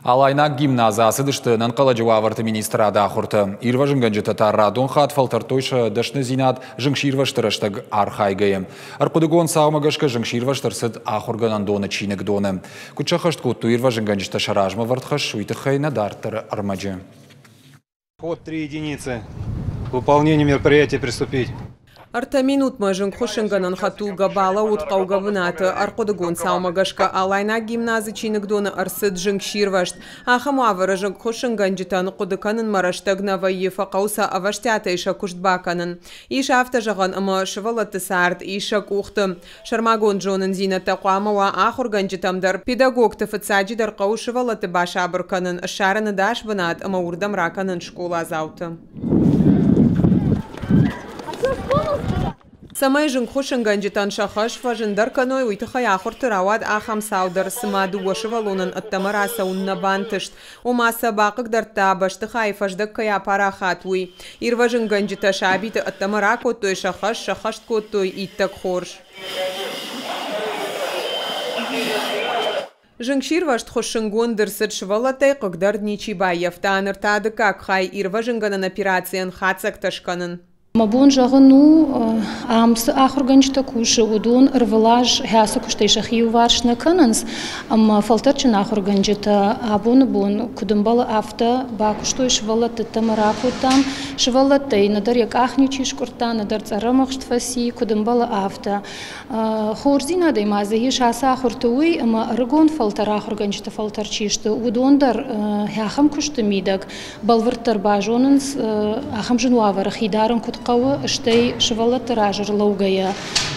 Алайнаг гимназы ацыдысты ӕнӕнхъӕлӕджы уавӕрты министрады ахуыртӕ. Ирвӕзынгӕнджытӕ та радон хатт фӕлтӕрдтой сӕ дӕсныдзинад зынгсирвӕзты рӕстӕг архайгӕйӕ. Ӕрхъуыдыгонд цаумӕ гӕсгӕ зынгсирвӕзт ӕрцыд ахуыргӕнӕндоны чиныгдоны. Куыд сӕххӕст кодтой ирвӕзынгӕнджытӕ сӕ размӕ вӕрд хӕс, уый тыххӕй нӕ дарддӕры ӕрмӕджы. Ход 3 единицы. К выполнению мероприятия приступить. 3 минутмӕ зынгхуыссынгӕнӕн хӕдтулгӕ балӕууыд хъӕугӕ бынаты. Ӕрхъуыдыгонд цаумӕ гӕсгӕ Алайнаг гимназы чиныгдоны ӕрцыд зынгсирвӕзт. Ахӕм уавӕры зынгхуыссынгӕнджытӕн хъуыды кӕнынмӕ рӕстӕг нӕ вӕййы, фӕхъӕуы сӕ ӕвӕстиатӕй сӕ куыст бакӕнын. Ис афтӕ зӕгъӕн, ӕмӕ сывӕллӕтты цард ис сӕ къухты. Сӕрмагонд зонындзинӕдтӕ хъуамӕ уа ахуыргӕнджытӕм дӕр. Педагогты фыццаджыдӕр хъӕуы сывӕллӕтты басабыр кӕнын, ссарын ӕдас бынат ӕмӕ уырдӕм ракӕнын скъоладзауты. Цӕмӕй зынгхуыссынгӕнджытӕн сӕ хӕс фӕзындӕр кӕной, уый тыххӕй ахуырты рауад ахӕм цау дӕр, цыма 2 сывӕллонӕн ӕддӕмӕ рацӕуын нӕ бантыст. Ома сӕ бахъыгдардта, бӕстыхайы фӕздӕг кӕй апарахат, уый. Ирвӕзынгӕнджытӕ сабиты ӕддӕмӕ ракодтой, сӕ хӕс сӕххӕст кодтой иттӕг хорз. Зынгсирвӕзт хуыссынгонд ӕрцыд, сывӕллӕттӕй хъыгдард ничи баййӕфта. Ныр та дыккаг хай ирвӕзынгӕнӕн операцийӕн хатдзӕгтӕ скӕнын. Мӕ бон зӕгъын у, ам цы ахуыргӕнджытӕ кусы, уыдон ӕрвылаз хӕцы куыстӕй сӕхи иуварс нӕ кӕнынц, ӕмӕ фӕлтӕрджын ахуыргӕнджытӕ абоны бон куыд ӕмбӕлы, афтӕ бакуыстой сывӕллӕтты ӕмӕ ракодтам. Сывӕллӕттӕй нӕдӕр йӕ къах ничи скъуырдта, нӕдӕр цъӕрӕмыхст фӕци, куыд ӕмбӕлы, афтӕ. Хорздзинадӕй ма дзы ис ацы ахуырты уый, ӕмӕ ӕрыгон фӕлтӕр ахуыргӕнджыты фӕлтӕр чи сты, уыдон дӕр ахӕм куысты мидӕг бӕлвырддӕр базонынц, ахӕм зын уавӕры хи дарын куыд хъӕуы, стӕй сывӕллӕтты раз ӕрлӕугӕйӕ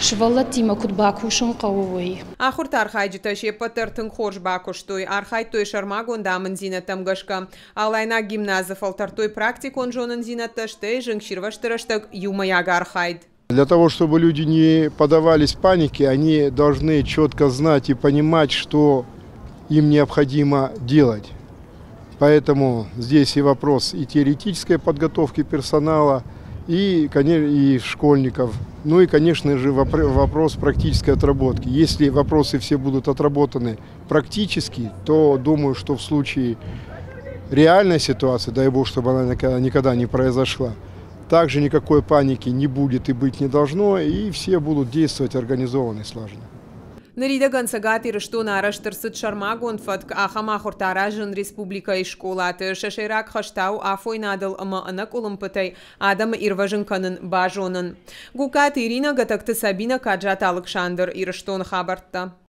сывӕллӕттимӕ куыд бакусын хъӕуы, уый. Ахуырты архайджытӕ се ппӕт дӕр тынг хорз бакуыстой, архайдтой сӕрмагонд амынддзинӕдтӕм гӕсгӕ. Алайнаг гимназы фӕлтӕрдтой практикон зонындзинӕдтӕ, стӕй зынгсирвӕзты рӕстӕг иумӕйаг архайд. Для того, чтобы люди не поддавались панике, они должны четко знать и понимать, что им необходимо делать. Поэтому здесь и вопрос и теоретической подготовки персонала, и школьников, ну и, конечно же, вопрос практической отработки. Если вопросы все будут отработаны практически, то думаю, что в случае реальной ситуации, дай бог, чтобы она никогда не произошла, также никакой паники не будет и быть не должно, и все будут действовать организованно и слаженно. Ныридӕгӕн Цӕгат Ирыстоны арӕзт ӕрцыд сӕрмагонд фӕтк ахӕм ахуыртӕ аразын республикӕйы скъолаты. Сӕ сӕйраг хӕс та у афойнадыл ӕмӕ ӕнӕкъуылымпытӕй адӕмы ирвӕзын кӕнын базонын. Гукаты Ирина, Гатӕгты Сабина, Каджаты Алыксандр, Ирыстоны хабӕрттӕ.